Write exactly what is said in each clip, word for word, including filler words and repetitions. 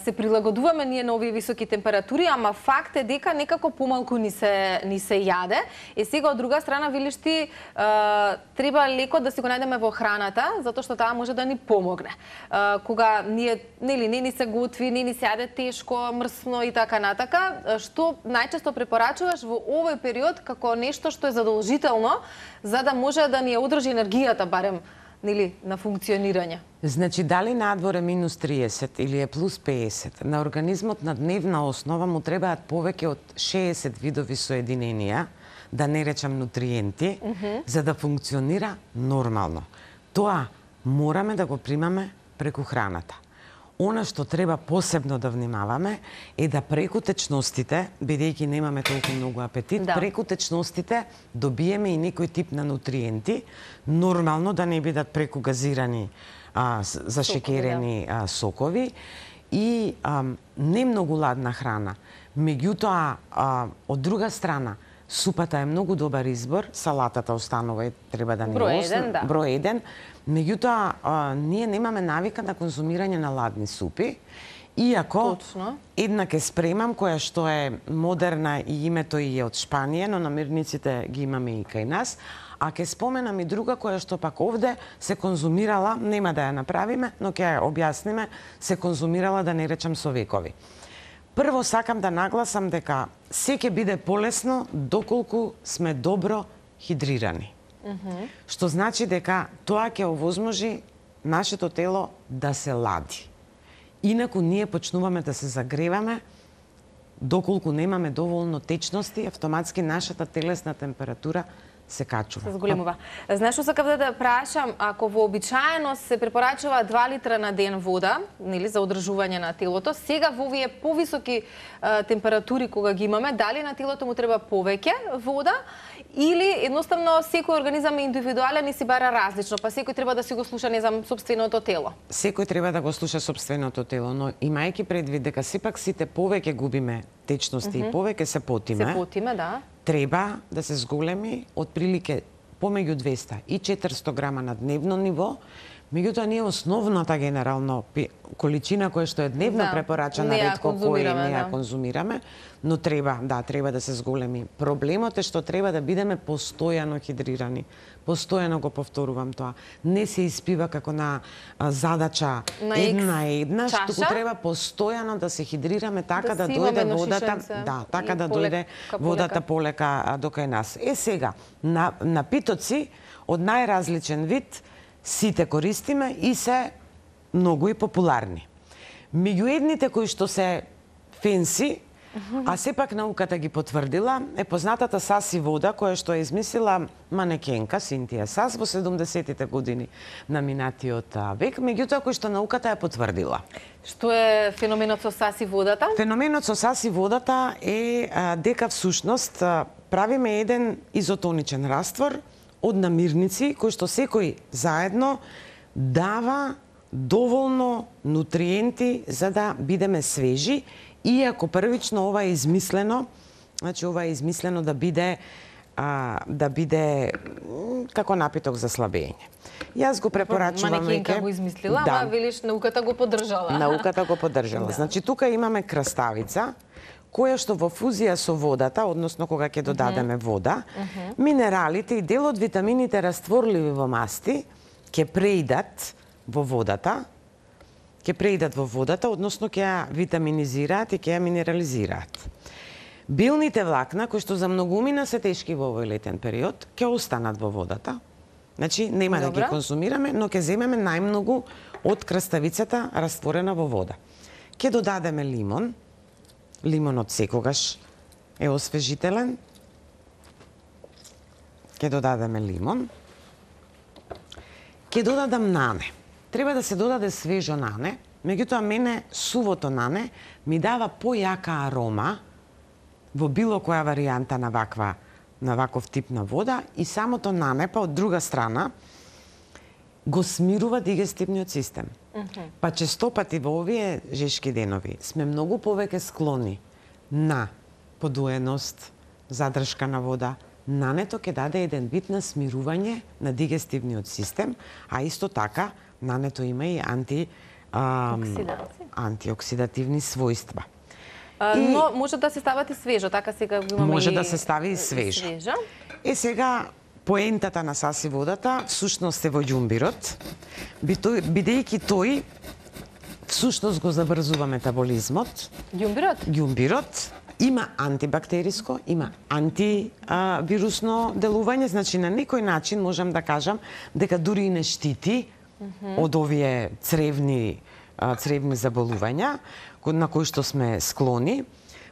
Се прилагодуваме ние на овие високи температури, ама факт е дека некако помалку ни се ни се јаде. И сега од друга страна велиш ти, треба леко да си го најдеме во храната, затоа што таа може да ни помогне. А, кога ние нели не ни се готви, не ни се јаде тешко, мрсно и така натака, што најчесто препорачуваш во овој период како нешто што е задолжително за да може да ни ја одржи енергијата барем нели на функционирање? Значи, дали надвор е минус триесет или е плюс пеесет, на организмот на дневна основа му требаат повеќе од шеесет видови соединенија, да не речам нутриенти, mm -hmm. за да функционира нормално. Тоа мораме да го примаме преку храната. Она што треба посебно да внимаваме е да преку течностите, бидејќи немаме толку многу апетит, да. преку течностите добиеме и некој тип на нутриенти, нормално да не бидат преку газирани, а, зашекерени а, сокови и а, не многу ладна храна. Меѓутоа, а, од друга страна, супата е многу добар избор, салатата останува и треба да не број еден, да. број еден. Меѓутоа, а, ние немаме навика на конзумирање на ладни супи, иако Точно. една ке спремам, која што е модерна и името и е од Шпанија, но намирниците ги имаме и кај нас, а ке споменам и друга која што пак овде се конзумирала, нема да ја направиме, но ќе ја објасниме, се конзумирала, да не речам, со векови. Прво сакам да нагласам дека се ќе биде полесно доколку сме добро хидрирани. Mm-hmm. Што значи дека тоа ќе овозможи нашето тело да се лади. Инаку ние почнуваме да се загреваме, доколку немаме доволно течности, автоматски нашата телесна температура се качува. Се зголемува. Знаеш што сакав да те прашам, ако вообичаено се препорачува два литра на ден вода, нели за одржување на телото, сега во овие повисоки а, температури кога ги имаме, дали на телото му треба повеќе вода или едноставно секој организам е индивидуален и си бара различно, па секој треба да си го слуша не знам сопственото тело? Секој треба да го слуша сопственото тело, но имајќи предвид дека сепак сите повеќе губиме течности mm-hmm. и повеќе се потиме. Се потиме, да. Треба да се зголеми од прилike помеѓу двеста и четиристо грама на дневно ниво, меѓутоа ние основната генерално количина која што е дневно да, препорачана, ретко кој не ја да. конзумираме, но треба, да, треба да се зголеми. Проблемот е што треба да бидеме постојано хидрирани. Постојано го повторувам тоа. Не се испива како на а, задача на една една, чаша? што треба постојано да се хидрираме така да, да дојде водата, да, така да дојде водата полека до кај нас. Е сега, на напитоци од најразличен вид сите користиме и се многу и популарни. Меѓу едните кои што се фенси, а сепак науката ги потврдила, е познатата Саси вода, која што е измислила манекенка Синтија Сас во седумдесетите години на минатиот век, меѓутоа кој што науката ја потврдила. Што е феноменот со Саси водата? Феноменот со Саси водата е а, дека всушност а, правиме еден изотоничен раствор од намирници кој што секој заедно дава доволно нутриенти за да бидеме свежи, иако првично ова е измислено, значи ова е измислено да биде а, да биде како напиток за слабење. Јас го препорачувам веќе. Манекенка го измислила, да. Ама велиш науката го поддржала. Науката го поддржала. Да. Значи тука имаме краставица која што во фузија со водата, односно кога ќе додадеме вода, uh-huh. минералите и дел од витамините растворливи во масти ќе преидат во водата, ќе преидат во водата, односно ќе ја витаминизираат и ќе ја минерализираат. Билните влакна, кои што за многумина се тешки во овој летен период, ќе останат во водата. Значи, нема Добра. да ги конзумираме, но ќе земеме најмногу од краставицата растворена во вода. Ќе додадеме лимон. Лимонот секогаш е освежителен. Ќе додадеме лимон. Ќе додадам нане. Треба да се додаде свежо нане, меѓутоа мене сувото нане ми дава појака арома во било која варијанта на ваква на ваков тип на вода и самото нане па од друга страна го смирува дигестивниот систем. Mm-hmm. Па често пати во овие жешки денови сме многу повеќе склони на подуеност, задршка на вода. Нането ќе даде еден вид на смирување на дигестивниот систем, а исто така нането има и анти а, Оксиданци. антиоксидативни својства. А, и, но може да се стават и свежо, така сега го имаме може и, да се стави и свежо. свежо. Е сега поентата на саси водата всушност е во ѓумбирот, бидејќи тој всушност го забрзува метаболизмот. Ѓумбирот? Ѓумбирот има антибактериско, има антивирусно делување, значи на некој начин можам да кажам дека дури и не штити mm -hmm. од овие цревни цревни заболувања на кои што сме склони.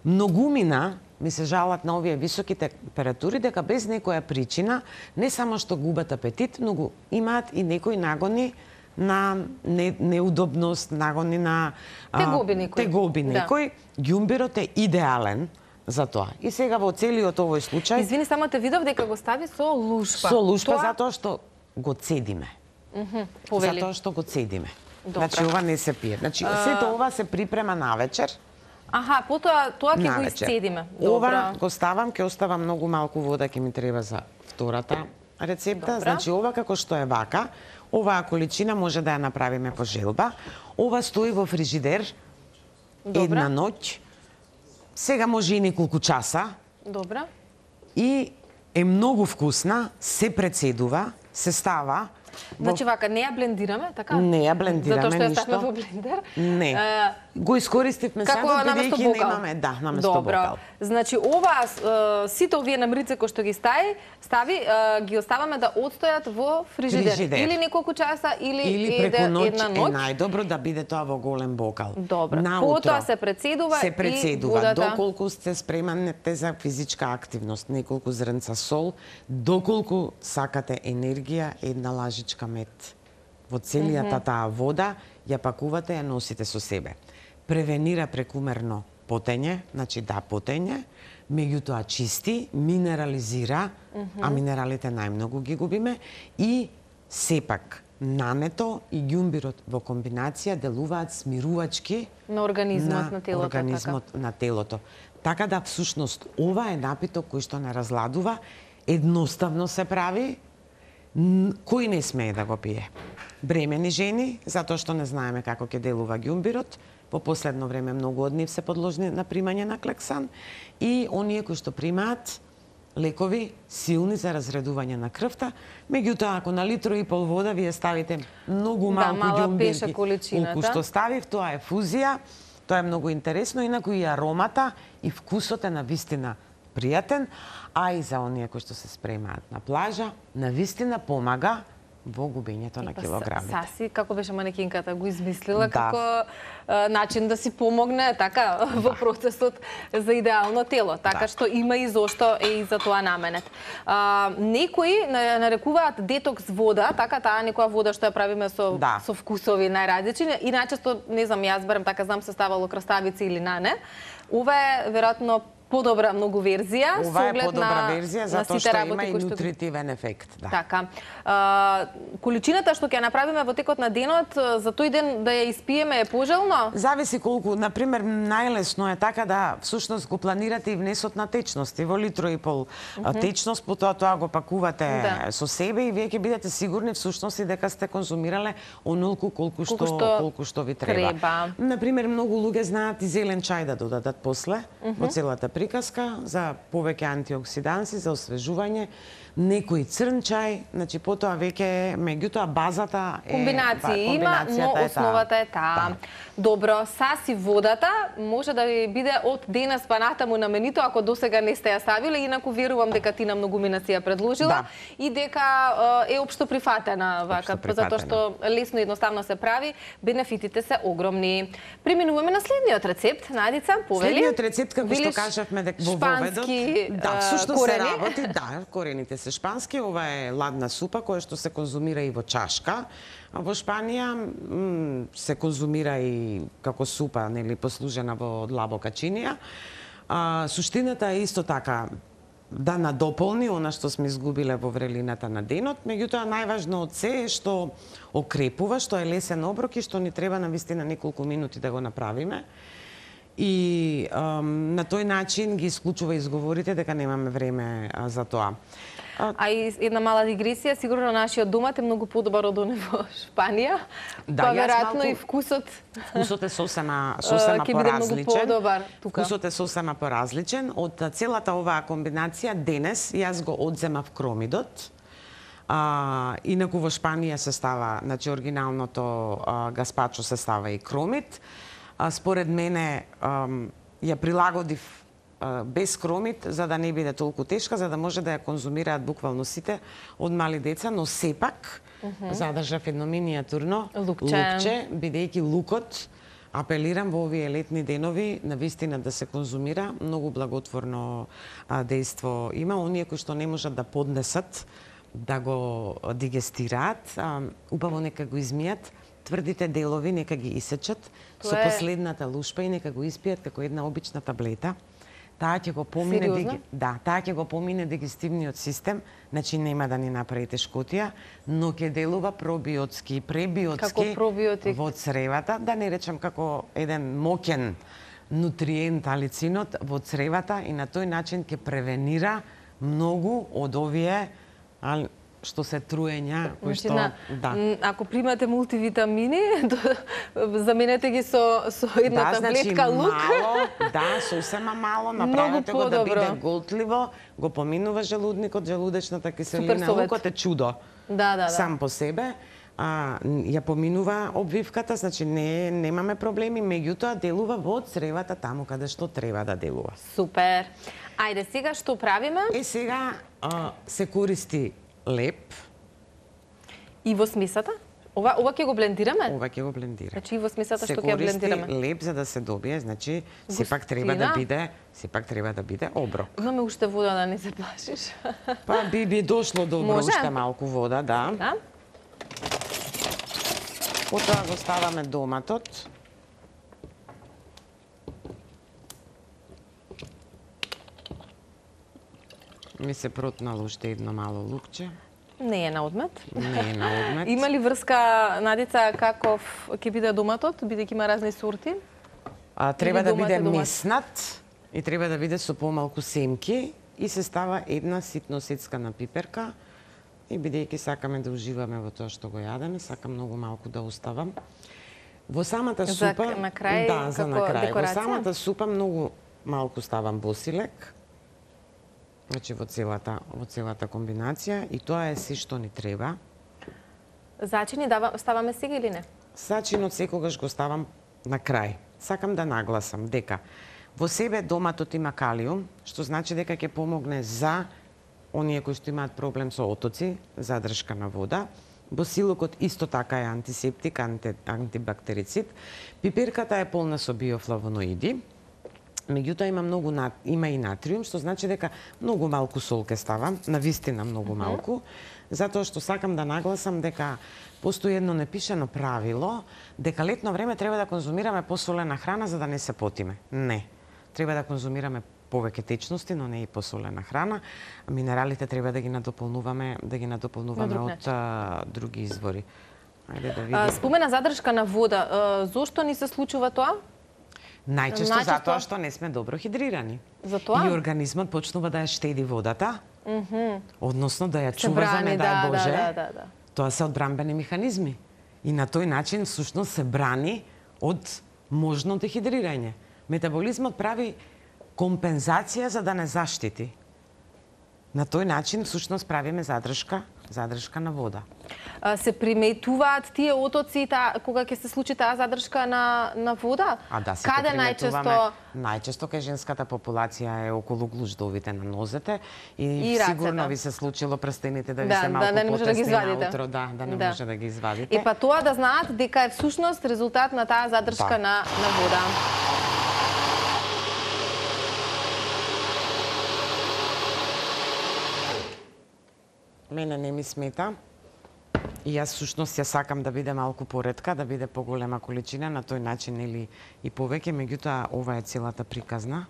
Многумина ми се жалат на овие високи температури дека без некоја причина не само што губат апетит, но го имаат и некои нагони на не, неудобност, нагони на тегоби некој. Тегоби некој. Да. Ѓумбирот е идеален за тоа. И сега во целиот овој случај... Извини, само те видов дека го стави со лушпа. Со лушпа, тоа... затоа што го цедиме. Mm -hmm. Повели. Затоа што го цедиме. Добра. Значи, ова не се пие. Значи, а... сето ова се припрема навечер. Аха, потоа тоа ќе го исцедиме. Ова го ставам, ќе оставам многу малку вода, ќе ми треба за втората рецепта. Добра. Значи, ова како што е вака, оваа количина може да ја направиме по желба. Ова стои во фрижидер Добра. една ноќ. Сега може и неколку часа. Добра. И е многу вкусна, се прецедува, се става. Значи вака, не ја блендираме, така? Не ја блендираме ништо. Затоа што ја ништо. ставме во блендер? Не. Uh, Го искористивме садот, бидејќи немаме, да, наместо бокал. Значи ова, uh, сите овие намрици кои што ги стави, стави, uh, ги оставаме да отстојат во фрижидер. фрижидер. Или неколку часа, или, или преку ноќ една ноќ. Е најдобро да биде тоа во голем бокал. Добро. Наутро, потоа се прецедува, се прецедува. И водата... Доколку сте спремате за физичка активност, неколку зрнца сол, доколку сакате енергија, една лажичка мед. Во целијата mm -hmm. таа вода ја пакувате, ја носите со себе. Превенира прекумерно потење, значи да потење, меѓутоа чисти, минерализира, mm -hmm. а минералите најмногу ги губиме, и сепак нането и ѓумбирот во комбинација делуваат смирувачки на организмот, на, на телото. Организмот така. на телото. Така да всушност ова е напиток кој што не разладува, едноставно се прави, кој не смее да го пие? Бремени жени, затоа што не знаеме како ќе делува ѓумбирот. Во последно време многу од нив се подложни на примање на клексан, и оние кои што примаат лекови силни за разредување на крвта. Меѓутоа, ако на литро и пол вода вие ставите многу малку да, ѓумбирки, колку што ставив, тоа е фузија, тоа е многу интересно, инаку и аромата и вкусот е навистина пријатен, а и за оние кои што се спремаат на плажа, навистина помага во губењето на килограмите. Саси, како беше манекинката, го измислила да. како а, начин да си помогне така да. во процесот за идеално тело. Така да. Што има и зошто е и за тоа наменет. А, некои нарекуваат детокс вода, така таа некоја вода што ја правиме со, да. со вкусови најразлични. Иначе, не знам, јас барем така знам, се ставало краставици или нане. Ова е веројатно подобра многу верзија. Ова е подобра верзија, затоа што има и нутритивен ефект. Да. Така. А, количината што ќе направиме во текот на денот, за тој ден да ја испиеме е пожелно? Зависи колку. Например, најлесно е така да всушност го планирате и внесот на течности. Во литро и пол mm -hmm. течност, потоа тоа го пакувате да. со себе и вие ќе бидете сигурни всушност и дека сте конзумирале онолку колку што, колку што, колку што ви треба. треба. Например, многу луѓе знаат и зелен чај да додадат после mm -hmm. во целата приказка за повеќе антиоксиданси, за освежување, некој црн чај, значи потоа веќе меѓутоа базата е комбинација има, но основата е таа. Да. Добро, саси водата може да ви биде од денес па натаму наменито ако досега не сте ја ставиле, инаку верувам дека Тина многумина си ја предложила да. и дека е општо прифатена вака, затоа што лесно и едноставно се прави, бенефитите се огромни. Преминуваме на следниот рецепт, Надица, повели. Следниот рецепт, како што кажавме дека во воведот, да, всушност се работи, да, корените се шпански, ова е ладна супа која што се конзумира и во чашка. Во Шпанија се конзумира и како супа, нели, послужена во длабока чинија. А, суштината е исто така да надополни она што сме изгубиле во врелината на денот, меѓутоа најважно од се е што окрепува, што е лесен оброк и што ни треба навистина неколку минути да го направиме. И ам, на тој начин ги исклучува изговорите дека немаме време а, за тоа. А, а и една мала дигресија, сигурно нашиот домат е многу подобар од оне во Шпанија. Да, па веројатно малку... и вкусот Вкусот е сосема сосема поразличен. Тука. Вкусот е сосема поразличен. Од целата оваа комбинација денес јас го одземав кромидот. А, инаку во Шпанија се става, значи оригиналното а, гаспачо се става и кромит. А, според мене а, ја прилагодив а, без кромит за да не биде толку тешка, за да може да ја конзумираат буквално сите од мали деца, но сепак uh -huh. задржав едно минијатурно лукче, лукче бидејќи лукот, апелирам во овие летни денови на вистина да се конзумира, многу благотворно а, дејство има. Оние кои што не можат да поднесат да го дигестираат, а, убаво нека го измијат, тврдите делови нека ги исечат Тоа со е... последната лушпа и нека го испијат како една обична таблета. Таа ќе го помине диги... да, таа ќе го помине дигестивниот систем, значи нема да ни направи тешкотија, но ќе делува пробиотски и пребиотски во цревата, да не речам како еден моќен нутриент алицинот во цревата и на тој начин ќе превенира многу од овие ал, што се труења, кои што на, да. Ако примате мултивитамини, заменете ги со со една да, таблетка значи, лук. Мало, да, сосема мало, направете го да биде голтливо, го поминува желудникот, желудечната киселина, лукот е чудо. Да, да, да. Сам по себе. А, ја поминува обвивката, значи не немаме проблеми, меѓутоа делува во цревата таму каде што треба да делува. Супер. Ајде сега што правиме? Е сега а, се користи леп. И во смесата? Ова ова ќе го блендираме? Ова ќе го блендираме. Значи во смесата што ќе блендираме. Се користи леп за да се добие, значи сепак треба да биде, сепак треба да биде оброк. Имаме уште вода, да не се плашиш. Па би би дошло добро уште малку вода, да. Да. Потоа го ставаме доматот. Ми се протнало уште едно мало лукче. Не е на одмет. Не е на одмет. Има ли врска, Надица, каков ќе биде доматот, бидејќи има разни сорти? А, треба да биде меснат и треба да биде со помалку семки и се става една ситно сецкана пиперка. И бидејќи сакаме да уживаме во тоа што го јадеме, сакам многу малку да оставам. Во самата супа, за на крај, да, за на крај. Декорација? Во самата супа многу малку ставам босилек. Значи во целата во целата комбинација и тоа е се што ни треба. Зачини дава, ставаме сега или не? Зачинот секогаш го ставам на крај. Сакам да нагласам дека во себе доматот има калиум, што значи дека ќе помогне за оние кои што имаат проблем со отоци, задршка на вода. Босилокот исто така е антисептик, анти, антибактерицид. Пиперката е полна со биофлавоноиди. Меѓутоа има многу има и натриум, што значи дека многу малку сол ке ставам, навистина многу малку, затоа што сакам да нагласам дека постои едно непишано правило дека летно време треба да конзумираме посолена храна за да не се потиме. Не. Треба да конзумираме повеќе течности, но не и посолена храна. Минералите треба да ги надополнуваме, да ги надополнуваме од а, други извори. Ајде да видиме. Спомена задршка на вода. А, зошто ни се случува тоа? Најчесто, Најчесто затоа што не сме добро хидрирани. Затоа? И организмот почнува да ја штеди водата, mm -hmm. односно да ја се чува брани, за не дај да, Боже. Да, да, да. Тоа се одбранбени механизми. И на тој начин всушност се брани од можно дехидрирање. Метаболизмот прави компензација за да не заштити. На тој начин всушност правиме задршка, задршка на вода. А, се приметуваат тие отоци та, кога ќе се случи таа задршка на на вода? А да, се каде најчесто? Најчесто кај женската популација е околу глуждовите на нозете и, и сигурно ви се случило прстените да ви да, се малку да, да не може да ги извадите. Наутро, да, да не да. може да ги извадите. И па тоа да знаат дека е всушност резултат на таа задршка да. на на вода. Мене не ми смета. И јас всушност ја сакам да биде малку поретка, да биде поголема количина, на тој начин или и повеќе, меѓутоа ова е целата приказна.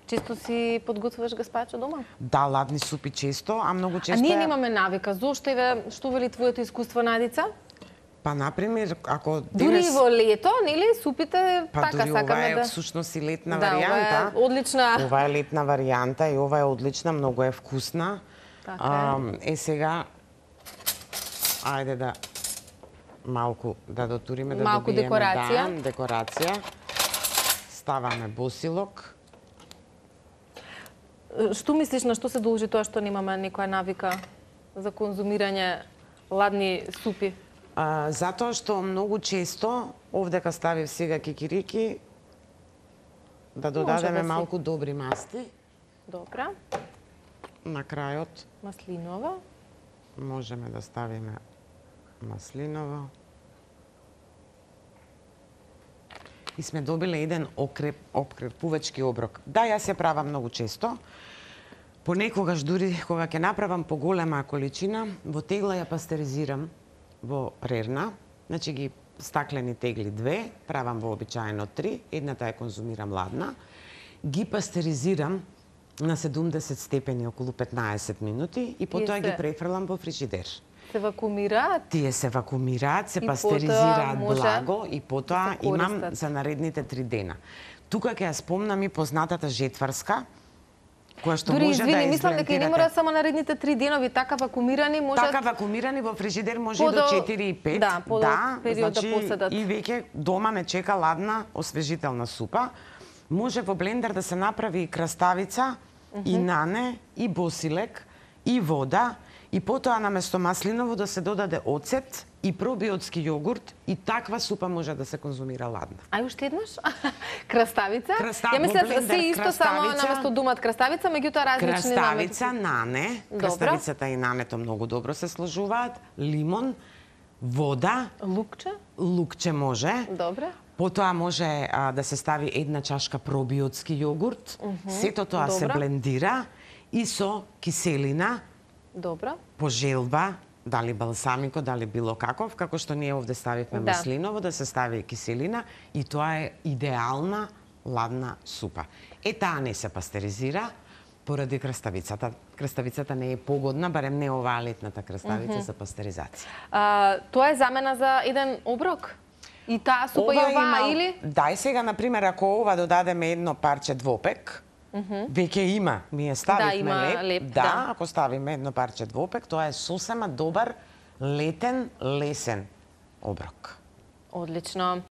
Често си подготвуваш гаспачо дома? Да, ладни супи често, а многу често. А ние е... немаме навика. Зошто еве што вели твоето искуство, Надица? Па например, ако денес... Дури во лето, нели, супите па, така сакаме да. Па дури ова е всушност и летна да, варијанта. Ова е одлична. Ова е летна варијанта и ова е одлична, многу е вкусна. Така е. Е сега, ајде да малку да дотуриме, да малку добиеме декорација. Да, декорација. Ставаме босилок. Што мислиш, на што се должи тоа што немаме некоја навика за конзумирање ладни супи? А, затоа што многу често, овдека ставив сега кикирики, да додадеме да си. малку добри масти. Добра. На крајот Маслинова. можеме да ставиме маслиново. И сме добиле еден окреп, окрепувачки оброк. Да, јас ја правам многу често. Понекогаш дури кога ќе направам поголема количина, во тегла ја пастеризирам во рерна. Значи ги стаклени тегли две, правам вообичаено три, едната ја конзумирам ладна. Ги пастеризирам на седумдесет степени околу петнаесет минути и потоа се- ги префрлам во фрижидер. Се вакуумираат? Тие се вакуумираат, се И пастеризираат потоа може благо и потоа да се имам користат. за наредните три дена. Тука ќе ја спомнам и познатата жетварска, која што Дури, може извини, да мислам дека и не изблендирате. мора само наредните три денови, така вакуумирани може... Така вакуумирани во фрижидер може Подо- и до четири и пет. да, подолг период да поседат. И веќе дома ме чека ладна, освежителна супа. Може во блендер да се направи и краставица, и нане, и босилек, и вода, и потоа наместо маслиново да се додаде оцет и пробиотски јогурт, и таква супа може да се конзумира ладна. Ај уште еднаш? Краставица? Краста- Ја мислам во блендер се исто, само краставица. наместо думат краставица, меѓутоа различни Краставица, намети. нане, Добро. краставицата и нането многу добро се сложуваат, лимон, вода, Лукче? лукче може. Добре. Потоа може а, да се стави една чашка пробиотски јогурт. Сето тоа се Добра. блендира и со киселина, Добро. по желба, дали балсамико, дали било каков, како што ние овде ставивме Да. маслиново, да се стави киселина и тоа е идеална ладна супа. Е, таа не се пастеризира поради краставицата. Краставицата не е погодна, барем не оваа летната краставица за пастеризација. А, тоа е замена за еден оброк? И таа супа и оваа или? Дај сега, например, ако ова додадеме едно парче двопек, веќе има, ми ја ставивме Да, има леп, леп, да, да. ако ставиме едно парче двопек, тоа е сосема добар летен, лесен оброк. Одлично.